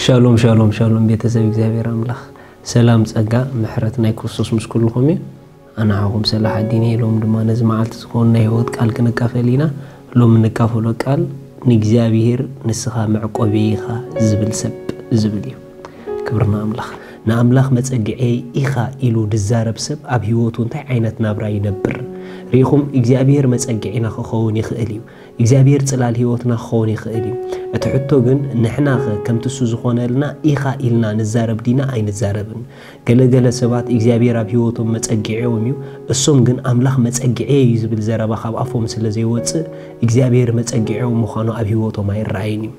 ሻሎም ሻሎም ሻሎም፣ ቤተሰብ እግዚኣብሔር ኣምላኽ ሰላም፣ ጸጋ፣ ምሕረት ናይ ክርስቶስ ምስ ኩልኹም እዩ። ኣነ ሓኹም ሰላሕ ኣዲን እየ። ሎም ድማ ነዚ መዓልቲ ዝኸውን ናይ ህይወት ቃል ክንካፈል ኢና። ሎም እንካፈሎ ቃል፣ ንእግዚኣብሔር ንስኻ መዕቆብየ ኢኻ ዝብል ሰብ ዝብል እዩ። ክብርና ኣምላኽ። ንኣምላኽ መጸግዕየ ኢኻ ኢሉ ድዛረብ ሰብ ኣብ ህይወቱ እንታይ ዓይነት ናብራ ይነብር? ርኢኹም፣ እግዚኣብሔር መጸግዒና ክኸውን ይኽእል እዩ። እግዚኣብሔር ጽላል ህይወትና ክኸውን ይኽእል እዩ። እቲ ሕቶ ግን፣ ንሕናኸ ከምቲ እሱ ዝኾነልና ኢኻ ኢልና ንዛረብ ዲና ኣይንዛረብን? ገለ ገለ ሰባት እግዚኣብሔር ኣብ ህይወቶም መጸግዒኦም እዩ፣ እሶም ግን ኣምላኽ መጸግዒየ እዩ ዝብል ዘረባ ካብ ኣፎም ስለ ዘይወጽእ፣ እግዚኣብሔር መጸግዒኦም ምዃኑ ኣብ ህይወቶም ኣይረኣይን እዩ።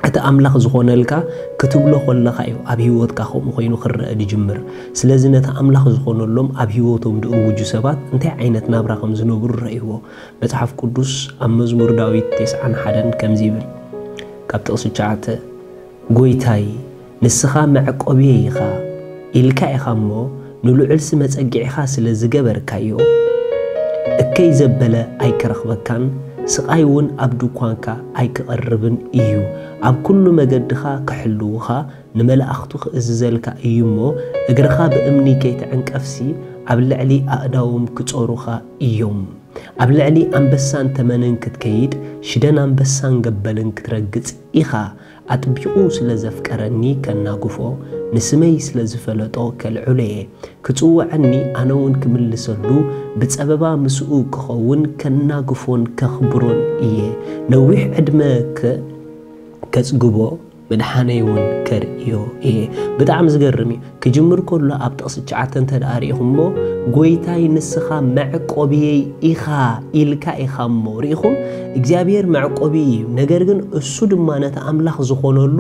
እቲ ኣምላኽ ዝኾነልካ ክትብሎ ከለኻ እዩ ኣብ ህይወትካ ከምኡ ኮይኑ ክረአ ዝጅምር። ስለዚ ነቲ ኣምላኽ ዝኾነሎም ኣብ ህይወቶም ዝእውጁ ሰባት እንታይ ዓይነት ናብራ ከም ዝነብሩ ረእይዎ። መጽሓፍ ቅዱስ ኣብ መዝሙር ዳዊት ተስዓን ሓደን ከምዚ ይብል፣ ካብ ጥቕሲ ትሽዓተ፣ "ጎይታይ፣ ንስኻ መዕቆብየ ኢኻ" ኢልካ ኢኻ እሞ፣ ንልዑልሲ መጸግዒኻ ስለ ዝገበርካዮ፣ እከይ ዘበለ ኣይክረኽበካን፣ ስቓይ እውን ኣብ ድኳንካ ኣይክቐርብን እዩ። ኣብ ኩሉ መገድኻ ክሕልውኻ፣ ንመላእኽቱ ክእዝዘልካ እዩ እሞ፣ እግርኻ ብእምኒ ከይትዕንቀፍሲ፣ ኣብ ልዕሊ ኣእዳዎም ክጾሩኻ እዮም። ኣብ ልዕሊ ኣንበሳን ተመንን ክትከይድ፣ ሽደን ኣንበሳን ገበልን ክትረግጽ ኢኻ። ኣጥቢቑ ስለ ዘፍቀረኒ ከናግፎ፣ ንስመይ ስለ ዝፈለጦ ከልዕሎ እየ። ክጽውዐኒ፣ ኣነ እውን ክምልሰሉ፣ ብጸበባ ምስኡ ክኸውን፣ ከናግፎን ከኽብሮን እየ። ነዊሕ ዕድመ ከ-፣ ከጽግቦ፣ ምድሓነይ እውን ከርእዮ እየ። ብጣዕሚ ዝገርም እዩ። ክጅምር ከሎ ኣብ ጥቕሲ ትሽዓተ እንተ ደኣ ርኢኹሞ፣ "ጎይታይ ንስኻ መዕቆብየይ ኢኻ" ኢልካ ኢኻ እሞ። ርኢኹም፣ እግዚኣብሔር መዕቆቢ እዩ። ነገር ግን እሱ ድማ ነቲ ኣምላኽ ዝኾነሉ፣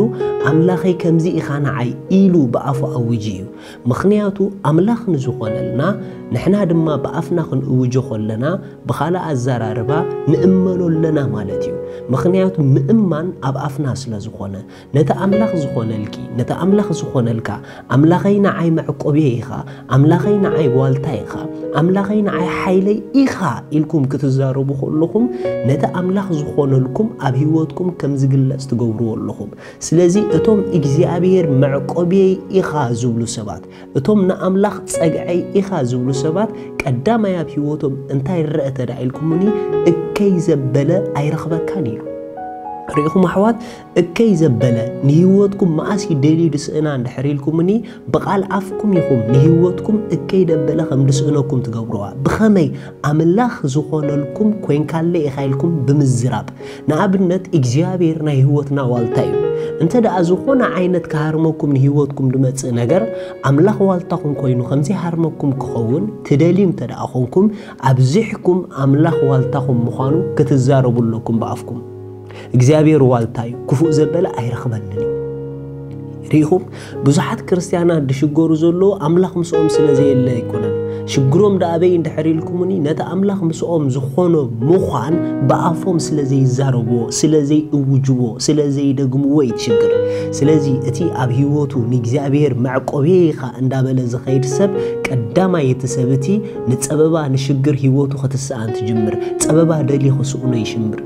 "ኣምላኸይ ከምዚ ኢኻ ንዓይ" ኢሉ ብኣፉ ኣውጂ እዩ። ምኽንያቱ ኣምላኽ ንዝኾነልና፣ ንሕና ድማ ብኣፍና ክንእውጆ ከለና፣ ብኻልእ ኣዘራርባ ንእመኖ ኣለና ማለት እዩ። ምኽንያቱ ምእማን ኣብ ኣፍና ስለ ዝኾነ፣ ነቲ ኣምላኽ ዝኾነልኪ፣ ነቲ ኣምላኽ ዝኾነልካ፣ "ኣምላኸይ ንዓይ መዕቆብየ ኢኻ፣ ኣምላኸይ ንዓይ ዋልታ ኢኻ፣ ኣምላኸይ ንዓይ ሓይለይ ኢኻ" ኢልኩም ክትዛረቡ ከለኹም፣ ነቲ ኣምላኽ ዝኾነልኩም ኣብ ህይወትኩም ከም ዝግለጽ ትገብርዎ ኣለኹም። ስለዚ እቶም እግዚኣብሔር መዕቆብየይ ኢኻ ዝብሉ ሰባት፣ እቶም ንኣምላኽ ጸግዐይ ኢኻ ዝብሉ ሰባት፣ ቀዳማይ ኣብ ህይወቶም እንታይ ይረአ ተዳ ኢልኩምኒ፣ እከይ ዘበለ ኣይረኽበካን ኢሉ። ርኢኹም ኣሕዋት፣ እከይ ዘበለ ንህይወትኩም መኣስ እዩ ደልዩ ድስእና እንድሕር ኢልኩምኒ፣ ብቓል ኣፍኩም ኢኹም ንህይወትኩም እከይ ደበለ ከም ድስእነኩም ትገብርዋ። ብኸመይ? ኣምላኽ ዝኾነልኩም ኮይንካለ ኢኻ ኢልኩም ብምዝራብ። ንኣብነት፣ እግዚኣብሔር ናይ ህይወትና ዋልታ እዩ። እንተ ደኣ ዝኾነ ዓይነት ክሃርመኩም ንህይወትኩም ድመጽእ ነገር፣ ኣምላኽ ዋልታኹም ኮይኑ ከም ዘይሃርመኩም ክኸውን ትደልዩ እንተ ደኣ ኾንኩም፣ ኣብዚሕኩም ኣምላኽ ዋልታኹም ምዃኑ ክትዛረቡ ኣለኩም ብኣፍኩም። እግዚኣብሔር ዋልታ እዩ፣ ክፉእ ዘበለ ኣይረኽበንን እዩ። ርኢኹም፣ ብዙሓት ክርስትያናት ድሽገሩ ዘለዉ ኣምላኽ ምስኦም ስለ ዘየለ ኣይኮነን። ሽግሮም ደኣ ኣበይ እንድሕር ኢልኩምኒ፣ ነቲ ኣምላኽ ምስኦም ዝኾኖ ምዃን ብኣፎም ስለ ዘይዛረብዎ፣ ስለ ዘይእውጅዎ፣ ስለ ዘይደግምዎ እዩ እቲ ሽግር። ስለዚ እቲ ኣብ ህይወቱ ንእግዚኣብሔር መዕቆብየ ኢኻ እንዳበለ ዝኸይድ ሰብ፣ ቀዳማይ እቲ ሰብ እቲ ንጸበባ ንሽግር ህይወቱ ክትስኣን ትጅምር። ጸበባ ደልዩ ክስእኖ ይሽምር።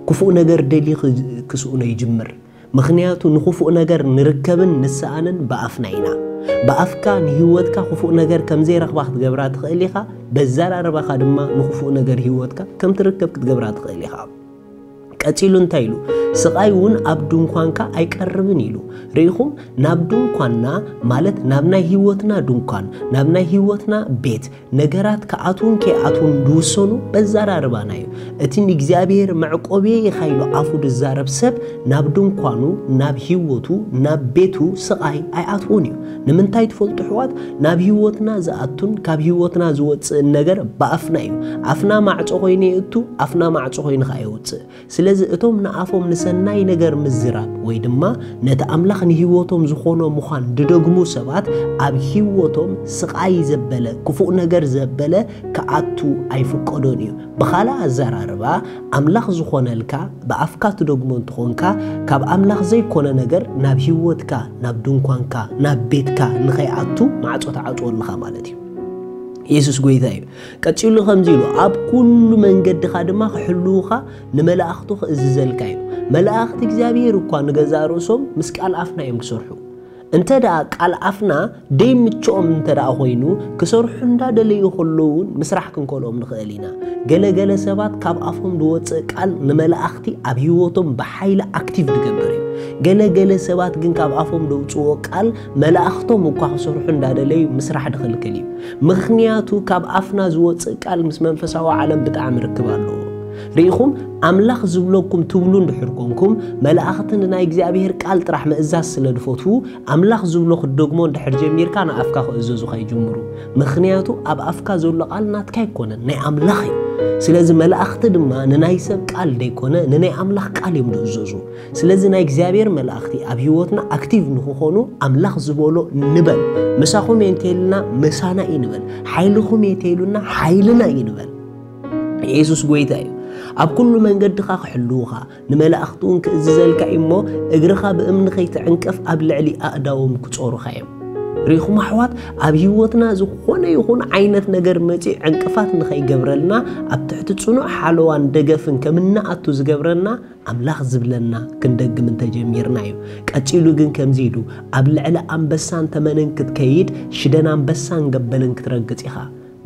ክፉእ ነገር ደልዩ ክ-፣ ክስእኖ ይጅምር። ምኽንያቱ ንኽፉእ ነገር ንርከብን ንስኣንን ብኣፍና ኢና። ብኣፍካ ንህይወትካ ክፉእ ነገር ከም ዘይረኽባ ክትገብራ ትኽእል ኢኻ፣ በዘራርባኻ ድማ ንኽፉእ ነገር ህይወትካ ከም ትርከብ ክትገብራ ትኽእል ኢኻ። ቀጺሉ እንታይ ኢሉ? "ስቓይ እውን ኣብ ድንኳንካ ኣይቀርብን" ኢሉ። ርኢኹም፣ ናብ ድንኳንና፣ ማለት ናብ ናይ ህይወትና ድንኳን፣ ናብ ናይ ህይወትና ቤት፣ ነገራት ክኣትዉን ከይኣትዉን ዝውሰኑ በዘራርባና እዩ። እቲ ንእግዚኣብሔር መዕቆብየ ኢኻ ኢሉ ኣፉ ዝዛረብ ሰብ፣ ናብ ድንኳኑ፣ ናብ ህይወቱ፣ ናብ ቤቱ ስቓይ ኣይኣትዎን እዩ። ንምንታይ ትፈልጡ ኣሕዋት? ናብ ህይወትና ዝኣቱን ካብ ህይወትና ዝወጽእን ነገር ብኣፍና እዩ። ኣፍና ማዕጾ ኮይኑ የእቱ፣ ኣፍና ማዕጾ ኮይኑ ከኣ የውጽእ። ስለዚ እቶም ንኣፎም ንሰናይ ነገር ምዝራብ ወይ ድማ ነቲ ኣምላኽ ንህይወቶም ዝኾኖ ምዃን ዝደግሙ ሰባት፣ ኣብ ህይወቶም ስቓይ ዘበለ፣ ክፉእ ነገር ዘበለ ክኣቱ ኣይፍቀዶን እዩ። ብኻልእ ኣዘራርባ፣ ኣምላኽ ዝኾነልካ ብኣፍካ ትደግሞ እንተኾንካ፣ ካብ ኣምላኽ ዘይኮነ ነገር ናብ ህይወትካ፣ ናብ ድንኳንካ፣ ናብ ቤትካ ንኸይኣቱ ማዕጾ ትዓጽዎ ኣለኻ ማለት እዩ። የሱስ ጎይታ እዩ። ቀጺሉ ከምዚ ኢሉ፣ ኣብ ኩሉ መንገድኻ ድማ ክሕልዉኻ ንመላእኽቱ ክእዝዘልካ እዩ። መላእኽቲ እግዚኣብሔር እኳ ንገዛእ ርእሶም ምስ ቃል ኣፍና እዮም ዝሰርሑ። እንተ ደኣ ቃል ኣፍና ደይምችኦም እንተ ደኣ ኮይኑ፣ ክሰርሑ እንዳደለዩ ከለዉ እውን ምስራሕ ክንከልኦም ንኽእል ኢና። ገለ ገለ ሰባት ካብ ኣፎም ዝወፅእ ቃል ንመላእኽቲ ኣብ ህይወቶም ብሓይሊ ኣክቲቭ ዝገብር እዩ። ገለ ገለ ሰባት ግን ካብ ኣፎም ዘውፅዎ ቃል መላእኽቶም እኳ ክሰርሑ እንዳደለዩ ምስራሕ ዝኽልክል እዩ። ምኽንያቱ ካብ ኣፍና ዝወፅእ ቃል ምስ መንፈሳዊ ዓለም ብጣዕሚ ርክብ ኣለዎ። ርኢኹም፣ ኣምላኽ ዝብለኩም ትብሉ እንድሕር ኮንኩም፣ መላእኽቲ ንናይ እግዚኣብሔር ቃል ጥራሕ ምእዛዝ ስለ ዝፈትዉ፣ ኣምላኽ ዝብሎ ክትደግሞ እንድሕር ጀሚርካ ንኣፍካ ክእዘዙኻ ይጅምሩ። ምኽንያቱ ኣብ ኣፍካ ዘሎ ቃል ናትካ ኣይኮነን፣ ናይ ኣምላኽ እዩ። ስለዚ መላእኽቲ ድማ ንናይ ሰብ ቃል ደይኮነ ንናይ ኣምላኽ ቃል እዮም ዝእዘዙ። ስለዚ ናይ እግዚኣብሔር መላእኽቲ ኣብ ህይወትና ኣክቲቭ ንክኾኑ ኣምላኽ ዝበሎ ንበል። ምሳኹም እየ እንተይልና ምሳና እዩ ንበል። ሓይልኹም እየ እንተይሉና ሓይልና እዩ ንበል። የሱስ ጎይታ እዩ። ኣብ ኩሉ መንገድኻ ክሕልውኻ፣ ንመላእኽቲ እውን ክእዝዘልካ እዩ እሞ፣ እግርኻ ብእምኒ ከይትዕንቀፍ ኣብ ልዕሊ ኣእዳዎም ክጾሩኻ እዮም። ርኢኹም ኣሕዋት፣ ኣብ ህይወትና ዝኾነ ይኹን ዓይነት ነገር መጺኡ ዕንቅፋት ንኸይገብረልና፣ ኣብ ትሕቲ ጽኑዕ ሓለዋን ደገፍን ከም እንኣቱ ዝገብረና ኣምላኽ ዝብለና ክንደግም እንተጀሚርና እዩ። ቀጺሉ ግን ከምዚ ኢሉ፣ ኣብ ልዕሊ ኣንበሳን ተመንን ክትከይድ፣ ሽደን ኣንበሳን ገበልን ክትረግጽ ኢኻ።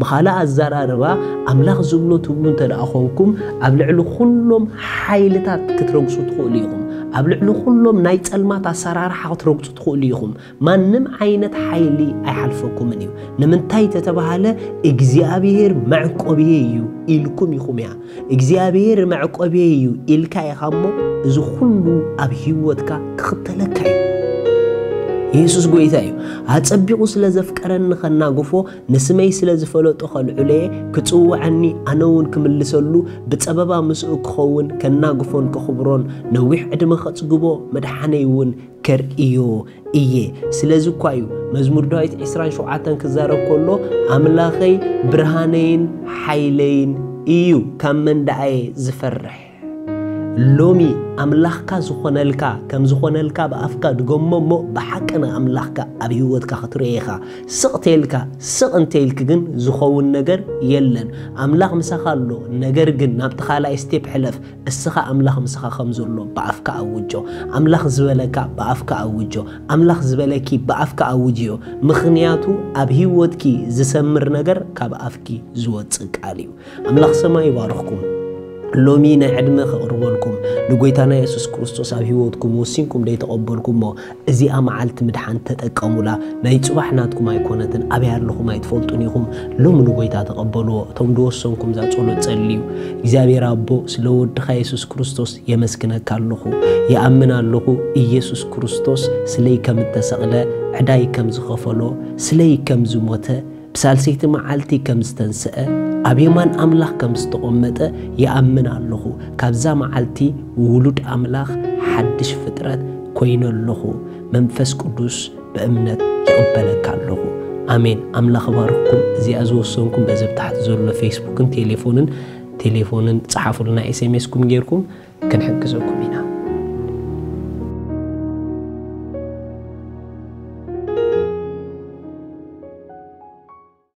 ብኻልእ ኣዘራርባ፣ ኣምላኽ ዝብሎ ትብሉ እንተ ደኣ ኾንኩም፣ ኣብ ልዕሊ ኩሎም ሓይልታት ክትረግጹ ትኽእሉ ኢኹም። ኣብ ልዕሊ ኩሎም ናይ ጸልማት ኣሰራርሓ ክትረግጹ ትኽእሉ ኢኹም። ማንም ዓይነት ሓይሊ ኣይሓልፈኩምን እዩ። ንምንታይ ተተባሃለ፣ እግዚኣብሔር መዕቆብየ እዩ ኢልኩም ኢኹም እያ። እግዚኣብሔር መዕቆብየ እዩ ኢልካ ኢኻ እሞ፣ እዚ ኩሉ ኣብ ህይወትካ ክኽተለካ እዩ። የሱስ ጎይታ እዩ። ኣጸቢቑ ስለ ዘፍቀረኒ ከናግፎ፣ ንስመይ ስለ ዝፈለጦ ከልዕሎ'የ፣ ክጽውዓኒ ኣነ እውን ክምልሰሉ፣ ብጸበባ ምስኡ ክኸውን፣ ከናግፎን ከኽብሮን፣ ነዊሕ ዕድመ ከጽግቦ፣ መድሓነይ እውን ከርእዮ እየ። ስለዚ እኳ እዩ መዝሙር ዳዊት ዕስራን ሸውዓተን ክዛረብ ከሎ፣ ኣምላኸይ ብርሃነይን ሓይለይን እዩ፣ ካብ መን ደኣ እየ ዝፈርሕ? ሎሚ ኣምላኽካ ዝኾነልካ፣ ከም ዝኾነልካ ብኣፍካ ድገሞ እሞ፣ ብሓቂ ንኣምላኽካ ኣብ ህይወትካ ክትርእዮ ኢኻ። ስቕ እንተይልካ፣ ስቕ እንተይልኪ ግን ዝኸውን ነገር የለን። ኣምላኽ ምሳኻ ኣሎ፣ ነገር ግን ናብቲ ካልኣይ ስቴፕ ሕለፍ። እስኻ ኣምላኽ ምሳኻ ከም ዘሎ ብኣፍካ ኣውጆ። ኣምላኽ ዝበለካ ብኣፍካ ኣውጆ። ኣምላኽ ዝበለኪ ብኣፍካ ኣውጅዮ። ምኽንያቱ ኣብ ህይወትኪ ዝሰምር ነገር ካብ ኣፍኪ ዝወጽእ ቃል እዩ። ኣምላኽ ሰማይ ይባርኽኩም። ሎሚ ናይ ዕድመ ከቕርበልኩም፣ ንጎይታና የሱስ ክርስቶስ ኣብ ህይወትኩም ወሲንኩም ደይተቐበልኩሞ፣ እዚኣ መዓልቲ ምድሓን ተጠቀሙላ። ናይ ጽባሕ ናትኩም ኣይኮነትን፣ ኣበይ ኣለኹም ኣይትፈልጡን ኢኹም። ሎሚ ንጎይታ ተቐበልዎ። እቶም ዝወሰንኩም እዛ ጸሎት ጸልዩ። እግዚኣብሔር ኣቦ፣ ስለ ወድኻ የሱስ ክርስቶስ የመስግነካ ኣለኹ። ይኣምን ኣለኹ፣ ኢየሱስ ክርስቶስ ስለይ ከም እተሰቕለ፣ ዕዳይ ከም ዝኸፈሎ፣ ስለይ ከም ዝሞተ፣ ብሳልሰይቲ መዓልቲ ከም ዝተንስአ፣ ኣብ የማን ኣምላኽ ከም ዝተቖመጠ ይኣምን ኣለኹ። ካብዛ መዓልቲ ውሉድ ኣምላኽ፣ ሓድሽ ፍጥረት ኮይነ ኣለኹ። መንፈስ ቅዱስ ብእምነት ይቕበለካ ኣለኹ። ኣሜን። ኣምላኽ ይባርኽኩም። እዚኣ ዝወሰንኩም በዚ ኣብ ታሕቲ ዘሎ ፌስቡክን ቴሌፎንን፣ ቴሌፎንን ጸሓፉልና፣ ኤስኤምኤስኩም ጌርኩም ክንሕግዘኩም ኢና።